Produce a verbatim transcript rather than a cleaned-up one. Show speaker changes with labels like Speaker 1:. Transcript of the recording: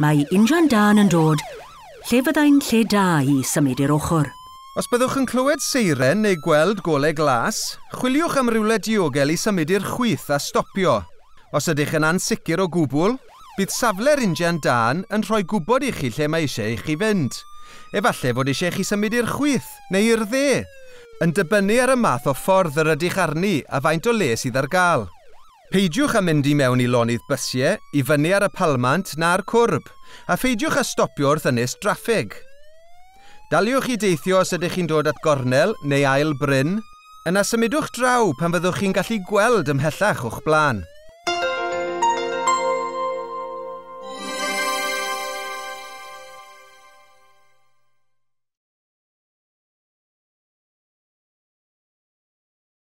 Speaker 1: Mae injan dân yn dod, lle fyddai'n lle da i symud i'r ochr?
Speaker 2: Os byddwch yn clywed seiren neu gweld golau glas, chwiliwch am rywle diogel i symud i'r chwith a stopio. Os ydych yn ansicr o gwbl, bydd safle'r injan dân yn rhoi gwybod i chi lle mae eisiau i chi fynd. Efallai fod eisiau i chi symud i'r chwith neu i'r dde, yn dibynnu ar y math o ffordd yr ydych arni a faint o le sydd ar gael. Peidiwch â mynd i mewn i lonydd bysiau, i fyny ar y palmant na'r cwrb, a pheidiwch â stopio wrth ynys draffig. Daliwch i deithio os ydych chi'n dod at gornel neu ail bryn, yna symudwch draw pan fyddwch chi'n gallu gweld ymhellach o'ch blaen.